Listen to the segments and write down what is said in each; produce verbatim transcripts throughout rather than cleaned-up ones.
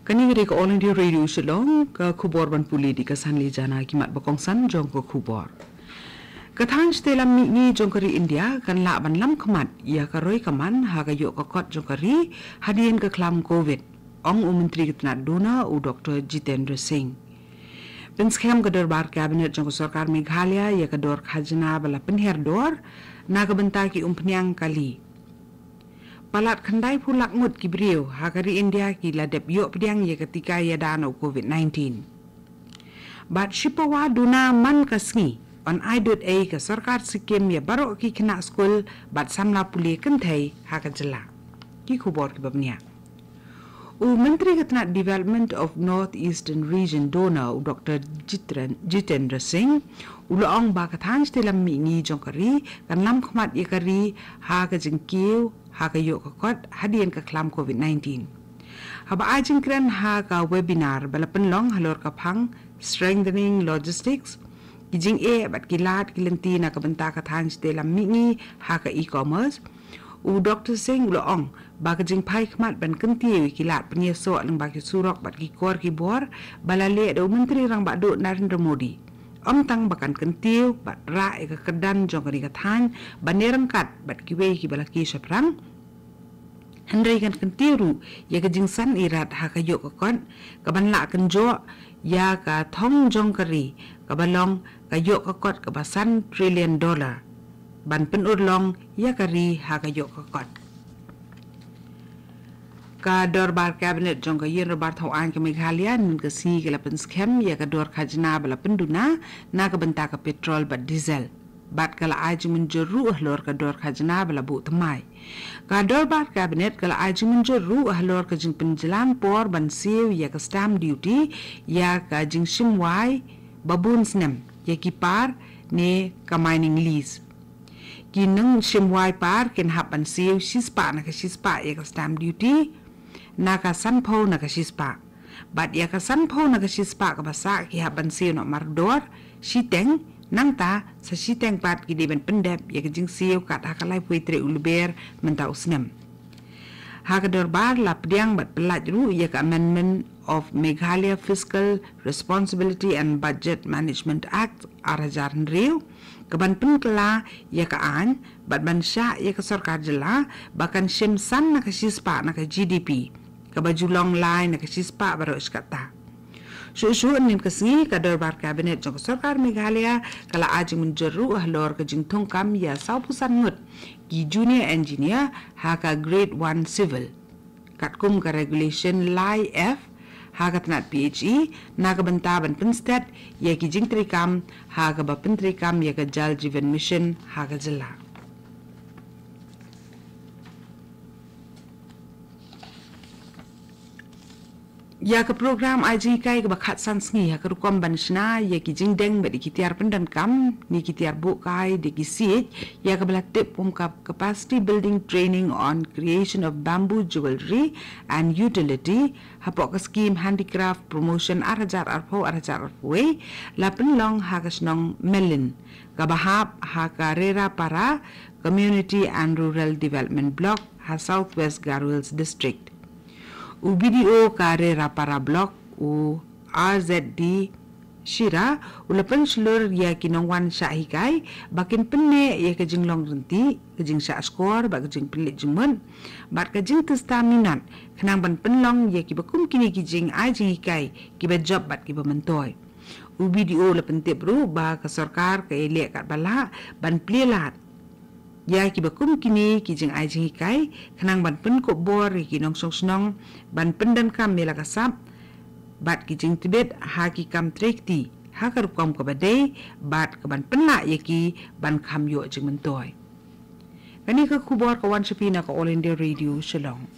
Kane ka dei ka All India Radio Shillong, ka khubor ban pule da ka Sanli Jana. Ki mat ba kongsan jong ka khubor. Ka thaiñ shatei lam mihngi jong ka ri India kan lah ban lam khmat ïa ka roi ka man ha ka ïoh ka kot jong ka ri hadien ka khlam Covid, ong u Myntri ka tnat DoNER u Doktor Jitendra Singh. Pynskhem ka dorbar Cabinet jong ka sorkar Meghalaya ïa ka dor khajna ba la pynher dor na ka bynta ki umphniang kali. Palat khyndai phew lak ngut ki briew ha ka ri India ki la dep ïoh pdiang ïa ka tika ïada na u Covid nineteen. Bad shipawa duna man ka sngi yn ai dud ei ka sorkar Sikkim ïa baroh ki khynnah skul bad samla pule kynthei ha ka jylla. Ki khubor kiba bniah. U Myntri ka tnat Development of North Eastern Region DoNER u Doktor Jitren-, Jitendra Singh u la ong ba ka thaiñ shatei lam mihngi jong ka ri kan lam khmat ïa ka ri ha ka jingkiew ha ka ïoh ka kot hadien ka khlam Covid nineteen. Haba ai jingkren ha ka webinar ba la pynlong halor ka phang Strengthening Logistics, ki jingeh bad ki lad ki lynti na ka bynta ka thaiñ shatei lam mihngi ha ka e-commerce, u Doktor Singh u la ong ba ka jingphai khmat ban kyntiew ïa ki lad pynïasoh lyngba ki surok bad ki kor ki bor ba la leh da u Myntri Rangbah Duh Narendra Modi, ym tang ba kan kyntiew bad rah ïa ka kyrdan jong kane ka thaiñ ban ïaryngkat bad kiwei kiba la kiew shaphrang, hynrei kan kyntiew ruh ïa ka jingsan irat ha ka ïoh ka kot kaban lah kynjoh ïa ka thong jong ka ri kaba long ka ïoh ka kot kaba san trillion dollar ban pynurlong ïa ka ri ha ka ïoh ka kot. Ka dorbar Cabinet jong ka Ïing Dorbar Thaw Aiñ ka Meghalaya hynnin ka sngi ka la pynskhem ïa ka dor khajna ba la pynduna na ka bynta ka petrol bad diesel. Bad ka la ai jingmynjur ruh halor ka dor khajna ba la buh thymmai. Ka dorbar Cabinet ka la ai jingmynjur ruh halor ka jingpynjlan por ban siew ïa ka stamp duty ïa ka jingshim wai ba bun snem ïa ki par ne ka mining lease. Ki nongshim wai par kin hap ban siew shispah na ka shispah ïa ka stamp duty na ka sanphew na ka shispah. Bad ïa ka sanphew na ka shispah kaba sah ki hap ban siew noh mardor shiteng, nangta sa shiteng pat ki dei ban pyndep ïa ka jingsiew kat ha ka laiphew wei tarik u Lber mynta u snem. Ha ka dorbar la pdiang bad pyllait ruh ïa ka Amendment of Meghalaya Fiscal Responsibility and Budget Management Act ar hajar hynriew kaban pynkylla ïa ka aiñ bad ban shah ïa ka sorkar jylla ba kan shim san na ka shispah na ka G D P, kaba ju long lai na ka shispah baroh shi katta. Shuh shuh hynnin ka sngi ka dorbar Cabinet jong ka sorkar Meghalaya ka la ai jingmynjur ruh halor ka jingthungkam ïa sawphew san ngut ki junior engineer ha ka Grade one Civil, katkum ka Regulation lai F ha ka tnat P H E na ka bynta ban pynstet ïa ki jingtreikam ha kaba pyntreikam ïa ka Jal Jeevan Mission ha ka jylla. Ïa ka program ai jinghikai kaba khatsan sngi ha ka rukom ban shna ïa ki jingdeng bad ïa ki tiar pyndonkam ne ki tiar buh kai da ki siej, ïa kaba la tip kum ka Capacity Building Training on Creation of Bamboo Jewellery and Utility hapoh ka skim Handicraft Promotion ar hajar arphew ar hajar arphew wei, la pynlong ha ka shnong Melin kaba hap ha ka Rerapara Community and Rural Development Block ha South West Garo Hills District. U B D O ka Rerapara Block, u R Z D Shira, u la pynshlur ïa ki nongwan shah hikai ba kin pynneh ïa ka jinglong ryntih, ka jingshah shkor bad ka jingpynleit jingmut bad ka jingtista minot khnang ban pynlong ïa kiba kum kine ki jingai jinghikai kiba jop bad kiba myntoi. U B D O la pyntip ruh ba ka sorkar ka ïaleh katba lah ban plie lad ïa kiba kum kine ki jingai jinghikai khnang ban pynkup bor ïa ki nongshong shnong ban pyndonkam ïa la ka sap bad ki jingtbit ha ki kam trei kti ha ka rukom kaba dei bad kaban pynlah ïa ki ban kham ïoh jingmyntoi. Kane ka khubor ka wan sha phi na ka All India Radio Shillong.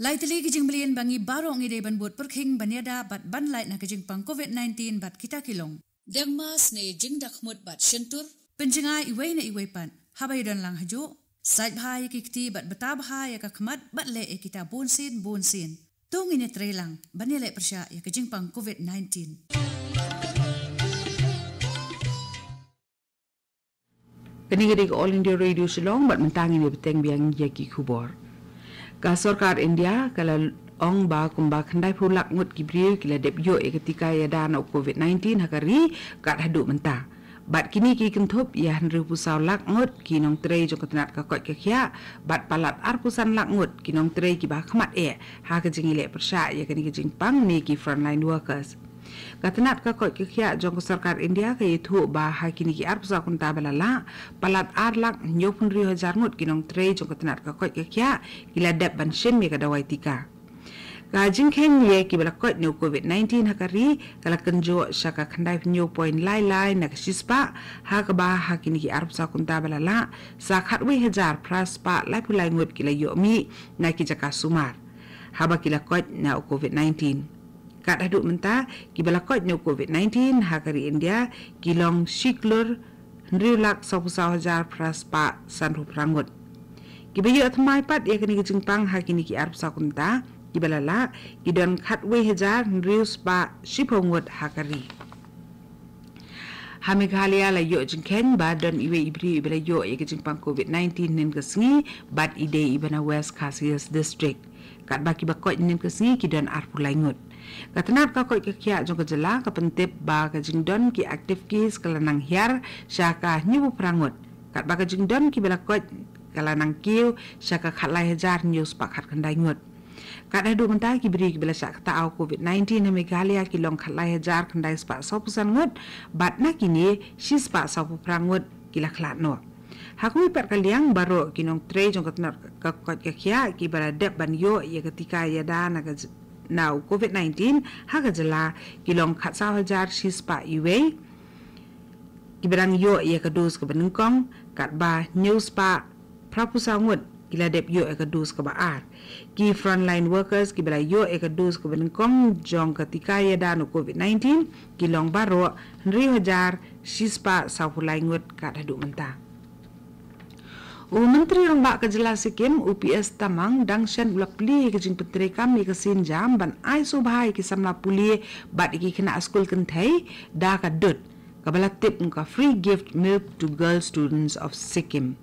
Lai tylli ki jingmlien ba ngi baroh ngi dei ban bud pyrkhing ban ïada bad ban lait na ka jingpang Covid nineteen bad kita ki long: deng mask ne jingdakhmut bad shyntur, pynjngai iwei na iwei pat haba ïadon lang hajuh, sait bha ïa ki kti bad bta bha ïa ka khmat bad leh ïa kita bunsien bunsien. To ngin ïatrei lang ban ïaleh pyrshah ïa ka jingpang Covid nineteen. Kane ka dei ka All India Radio Shillong, bad mynta ngin ïa bteng biang ïa ki khubor. Ka sorkar India ka la ong ba kumba khyndai phew lak ngut ki briew ki la dep ïoh ïa ka tika ïada na u COVID nineteen ha ka ri kat haduh mynta. Bad kine ki kynthup ïa hynriew phew saw lak ngut ki nongtrei jong ka tnat ka koit ka khiah, bad palat arphew san lak ngut ki nongtrei kiba khmat eh ha ka jingïaleh pyrshah ïa kane ka jingpang ne ki frontline workers. Ka tnat ka koit ka khiah jong ka sorkar India ka ïathuh ba ha kine ki arphew saw kynta ba la lah, palat ar lak hynñiew phew hynriew hajar ngut ki nongtrei jong ka tnat ka koit ka khiah ki la dep ban shim ïa ka dawai tika. Ka jingkheiñ ïa kiba la koit na u COVID nineteen ha ka ri ka la kynjoh sha ka khyndai phew hynñiew point lai lai na ka shispah, ha kaba ha kine ki arphew saw kynta ba la lah, sa khatwei hajar phra spah laiphew lai ngut ki la ïoh mih na ki jaka sumar haba ki la koit na u COVID nineteen. Kat haduh mynta, kiba la koit na u COVID nineteen ha ka ri India ki long shi klur hynriew lak sawphew saw hajar phra spah sanphew phra ngut. Kiba ïoh thymmai pat ïa kane ka jingpang ha kine ki arphew saw kynta kiba la lah ki don khatwei hajar hynriew spah shiphew ngut ha ka ri. Ha Meghalaya la ïoh jingkheiñ ba don iwei i briew iba la ïoh ïa ka jingpang COVID nineteen hynnin ka sngi, bad i dei iba na West Khasi Hills District. Katba kiba koit hynnin ka sngi ki don arphew lai ngut. Ka tnat ka koit ka khiah jong ka jylla ka pyntip ba ka jingdon ki active case ka la nang hiar sha ka hynñiew phew phra ngut. Katba ka jingdon kiba la koit ka la nang kiew sha ka khatlai hajar hynñiew spah khatkhyndai ngut. Kat haduh mynta ki briew kiba la shah ktah ïa u COVID nineteen ha Meghalaya ki long khatlai hajar khyndai spah sawphew san ngut, bad na kine shi spah sawphew phra ngut ki la khlad noh. Ha kawei pat ka liang, baroh ki nongtrei jong ka tnat ka koit ka khiah kiba la dep ban ïoh ïa ka tika ïada na ka j-, na u COVID nineteen ha ka jylla ki long khatsaw hajar shi spah iwei kiba dang ïoh ïa ka dos kaba nyngkong, katba hynñiew spah phraphew saw ngut ki la dep ïoh ïa ka dos kaba ar. Ki frontline workers kiba la ïoh ïa ka dos kaba nyngkong jong ka tika ïada na u COVID nineteen ki long baroh hynriew hajar shi spah sawphew lai ngut kat haduh mynta. U Myntri Rangbah ka jylla Sikkim, u P S Tamang, dang shen u la plie ïa ka jingpyntreikam ïa ka sienjam ban ai sngewbha ïa ki samla pule bad ïa ki khynnah skul kynthei da ka dud kaba la tip kum ka Free Gift Milk to Girl Students of Sikkim.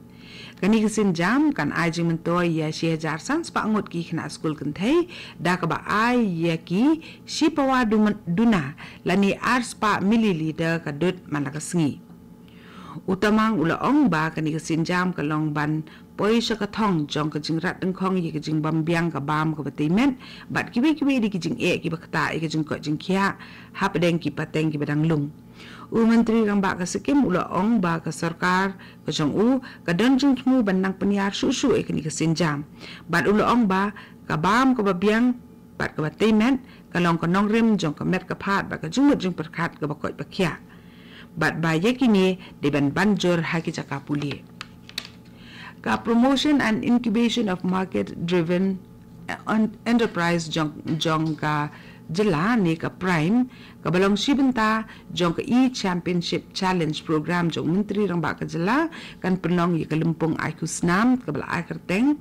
Kane ka sienjam kan ai jingmyntoi ïa shi hajar san spah ngut ki khynnah skul kynthei da kaba ai ïa ki shi pawa dum-, duna lane ar spah milliliter ka dud man la ka sngi. U Tamang u la ong ba kane ka sienjam ka long ban poi sha ka thong jong ka jingrat dyngkhong ïa ka jingbym biang ka bam kaba tei met bad kiwei kiwei de ki jingeh kiba ktah ïa ka jingkoit jingkhiah hapdeng ki pateng kiba dang lung. U Myntri Rangbah ka Sikkim u la ong ba ka sorkar ka jong u ka don jingthmu ban nang pynïar shuh shuh ïa kane ka sienjam. Bad u la ong ba ka bam kaba biang bad kaba tei met ka long ka nongrim jong ka met ka phad bad ka jingmut jingpyrkhat kaba koit ba khiah. Bad ba ïa kine dei ban ban jur ha ki jaka pule. Ka Promotion and Incubation of Market Driven En-, Enterprise jong, jong ka jylla ne ka PRIME, kaba long shi bynta jong ka E-Championship Challenge Program jong u Myntri Rangbah ka jylla, kan pynlong ïa ka lympung ai khusnam kaba la ai kyrteng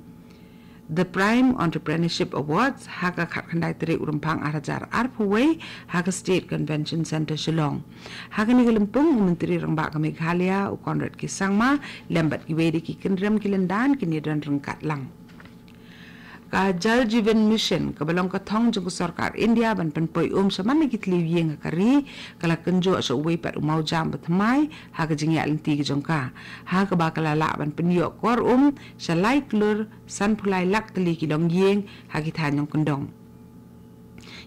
The PRIME Entrepreneurship Awards ha ka khatkhyndai tarik u Rymphang ar hajar arphew wei ha ka State Convention Centre Shillong. Ha kane ka lympung, u Myntri Rangbah ka Meghalaya, u Conrad K Sangma, lem bad kiwei de ki kynrem ki lyndan kin ïadon ryngkat lang. Ka Jal Jeevan Mission, kaba long ka thong jong ka sorkar India ban pynpoi um sha man la ki tliw ïing ha ka ri, ka la kynjoh sha uwei pat u mawjam bathymmai ha ka jingïaid lynti ka jong ka, ha kaba ka la lah ban pynïoh kor um sha lai klur sanphew lai lak tylli ki longïing ha ki thaiñ nongkyndong.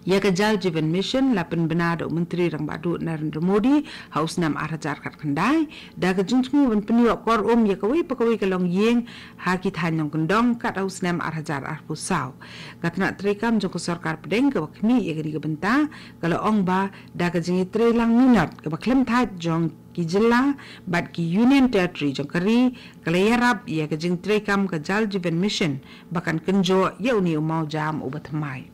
Ïa ka Jal Jeevan Mission la pynbna da u Myntri Rangbah Duh Narendra Modi ha u snem ar hajar khatkhyndai, da ka jingthmu ban pynïoh kor um ïa kawei pa kawei ka longïing ha ki thaiñ nongkyndong kat ha u snem ar hajar arphew saw. Ka tnat treikam jong ka sorkar pdeng kaba khmih ïa kane ka bynta ka la ong ba da ka jingïatreilang minot kaba khlem thait jong ki jylla bad ki Union Territory jong ka ri, ka la ïarap ïa ka jingtreikam ka Jal Jeevan Mission ba kan kynjoh ïa une u mawjam uba thymmai.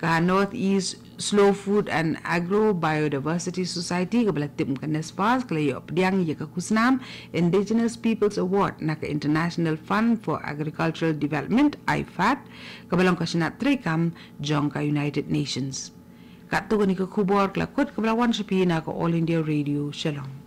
Ka North East Slow Food and Agro Biodiversity Society, kaba la tip kum ka NESPAS, ka la ïoh pdiang ïa ka khusnam Indigenous Peoples Award na ka International Fund for Agricultural Development, IFAD, kaba long ka shnat treikam jong ka United Nations. Katto katne ki khubor ka la kut kaba la wan sha phi na ka All India Radio Shillong.